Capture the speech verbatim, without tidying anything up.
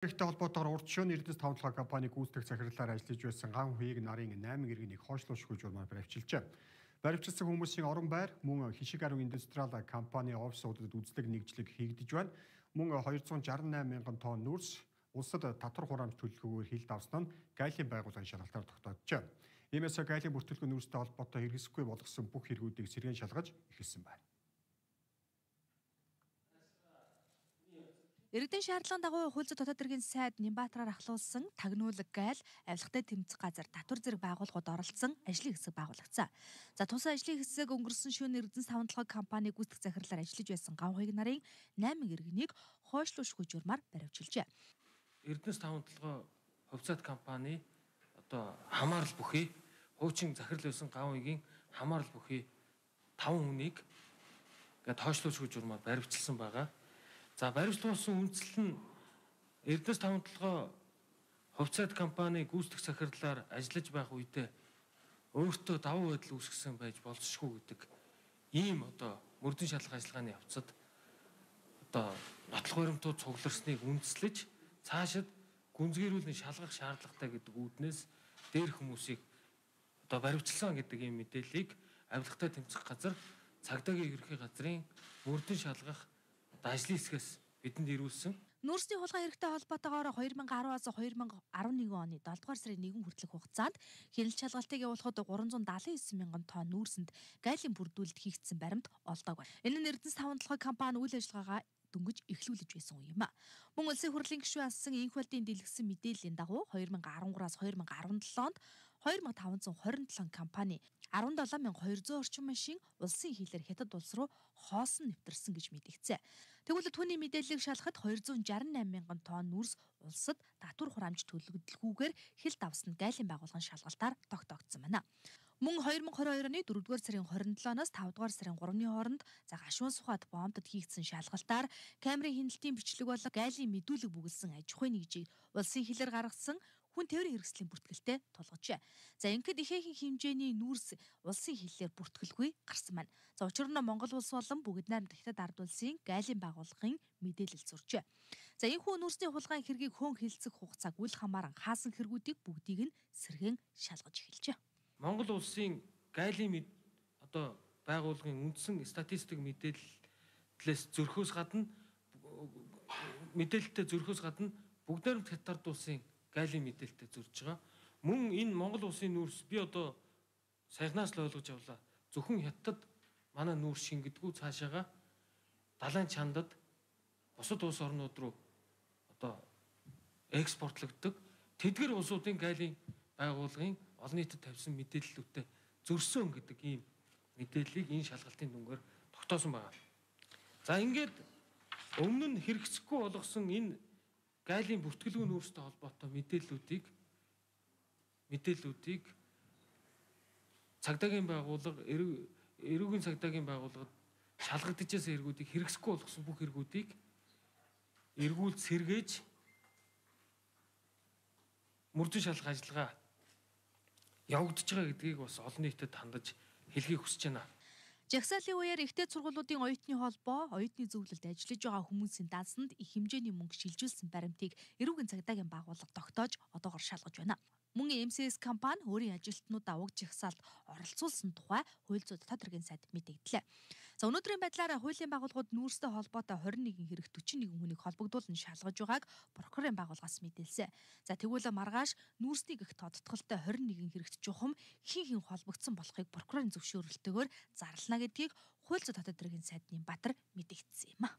Ихтэй холбоотойгоор урдчилан Эрдэнэс тавталгаа компани гүйцэтгэх захирлаар ажиллаж байсан ган хуйг нарын найман иргэнийг хойшлуулшгүй журмаар баривчилжээ. Баривчилсан хүмүүсийн орон байр мөн хишиг арга индустриал компани офисуудад үзлэг нэгжлэг хийгдэж байна. Мөн двести шестьдесят восемь мянган тонн нүрс улсад татвар хураамж төлөлгөөр хилд авсан нь гайлын байгууллагын шалгалтаар тогтооджээ. Иймээс гайлын бүртгэл нүрстэй холбоотой хэрэгсэхгүй болгосон бүх хэрэгүүдийг сэргээн шалгаж эхэлсэн байна. Иргэдийн шаардлагын дагуу хууль зүйн дотоод хэргийн сайд Нямбаатраар ахлуулсан тагнуулаг гайл авилгатай тэмцэх газар татвар зэрэг байгууллагууд оролцсон ажлын хэсэг байгуулагцсан. За тус ажлын хэсэг өнгөрсөн шөнө Эрдэнэс тавталгаа компани гүйцэтгэх захирлаар ажиллаж байсан ган хуйг нарын найман иргэнийг хойшлуулшгүй журмаар баривчилжээ. Эрдэнэс тавталгаа хувьцаат компани одоо хамаарал бүхий хуучин захирал байсан ган хуйгийн хамаарал бүхий таван хүнийг ингээд хойшлуулшгүй журмаар баривчилсан байгаа. За баримтлуулсан үндэслэл нь Эрдэнэс тавталгаа хувьцаат компани гүйцэтгэх захирлаар ажиллаж байх үедээ өөртөө давуу байдал үүсгэсэн байж болзошгүй гэдэг ийм одоо мөрдөн шалгах ажиллагааны явцад одоо нотлох баримтууд цугларсныг үндэслэж цаашид гүнзгийрүүлэн шалгах шаардлагатай гэдэг үүднээс дээр хүмүүсийг одоо баримтчилсан гэдэг ийм мэдээллийг авилгатай тэмцэх газар цагдаагийн ерөнхий газрын мөрдөн шалгах ажлын хэсгээс бидэнд ирүүлсэн. Нүрсний хулгай хэрэгтэй холбоотойгоор две тысячи десять-аас две тысячи eleven оны долоо дугаар сарын нэгэн хүртэлх хугацаанд хяналт шалгалтыг явуулахад тhree hundred seventy-nine мянган тонн нүрсэнд гайлын бүрдүүлэлт хийгдсэн баримт олдог байна. Энэ нь Эрдэнэс тавталгаа компани үйл ажиллагаагаа дөнгөж эхлүүлж байсан үе юм а. Мөн улсын хурлын гишүүн ассан инх болдын дэлгэсэн мэдээллийн дагуу две тысячи13-аас две тысячи17-онд two thousand five hundred twenty-seven компани seventy-seven thousand two hundred орчим машин улсын хилээр хятад улс руу хоосон нэвтэрсэн гэж мэдгдсэн. Тэгвэл түүний мэдээллийг шалгахад two hundred sixty-eight мянган тонн нүрс улсад татвар хураамж төлөгдөлгүйгээр хилд авсан гайлын байгууллагын шалгалтаар тогтоогдсон байна. Мөн twenty twenty-two оны fourth дугаар сарын twenty-seven-аас five дугаар сарын three-ны хооронд за гашуун сухад бомбдод хийгдсэн шалгалтаар камерын хяналтын бичлэг болон гайлын мэдүүлэг бүгэлсэн аж ахуйн нэгжийг улсын хилээр гаргасан хүн тээврийн хэрэгслийн бүртгэлтэй тулгажээ. За ингээд ихээхэн хэмжээний нүрс улсын хилээр бүртгэлгүй гарсан байна. За учир нь Монгол улс болон бүгд найрамд хятад ард улсын гайлын байгууллагын мэдээлэл зуржээ. За энэхүү нүрсний хулгайн хэргийг хөөн хилцэх хугацааг үл хамааран хаасан хэрэгүүдийг бүгдийг нь сэргээн шалгаж эхэлжээ. Монгол улсын гайлын одоо байгууллагын үндсэн статистик мэдээллээс зөрхөөс гадна мэдээлэлтэй зөрхөөс гадна бүгд найрамд хятад улсын гайлын мэдээлэлтэй зөрж байгаа. Мөн энэ Монгол улсын нүрс би одоо саяхнаас л ойлгож авлаа. Зөвхөн хятад манай нүрс шингэдэггүй цаашаага далайн чандад бусад улс орнууд руу одоо экспортлогддог. Тэдгэр улсуудын гайлын байгууллагын олон нийтэд тавьсан мэдээллүүдтэй зөрсөн гэдэг ийм мэдээллийг энэ шалгалтын дүнгээр тогтоосон байна. За ингээд өмнө нь хэрэгцэхгүй болгосон энэ гайлын бүртгэлгүй нүрстэй холбоотой мэдээллүүдийг мэдээллүүдийг цагдаагийн байгууллага эрүүгийн цагдаагийн байгууллагад шалгагдчихсан хэрэгүүдийг хэрэгсэхгүй болгосон бүх хэрэгүүдийг эргүүлж сэргээж мөрдөн шалгах ажиллагаа явагдаж байгаа гэдгийг бас олон нийтэд хандаж хэлхийг хүсэж байна. Жагсаалын үеэр ихтэй сургуулиудын оюутны холбоо оюутны зөвлөлд ажиллаж байгаа хүмүүсийн дансанд их хэмжээний мөнгө шилжүүлсэн баримтыг эрүүгийн цагдаагийн байгууллага тогтоож одоогоор шалгаж байна. Мөн эм си эс компани өөрийн ажилтнуудаа уг жагсаалд оролцуулсан тухай хууль зүйн дотоод хэргийн сайд мэдэгдлээ. За өнөөдрийн байдлаар хуулийн байгууллагууд нүрстэй холбоотой twenty-one хэрэг forty-one хүнийг холбогдуулан шалгаж байгааг прокурорын байгууллагаас мэдээлсэн. За тэгвэл маргааш нүрсний гих тодтголтой twenty-one хэрэгт чухам хин хин холбогдсон болохыг прокурорын зөвшөөрлөлтөөр зарлана гэдгийг хууль зүйн дотоод хэргийн сайд Нямбаатар мэдэгдсэн юм а.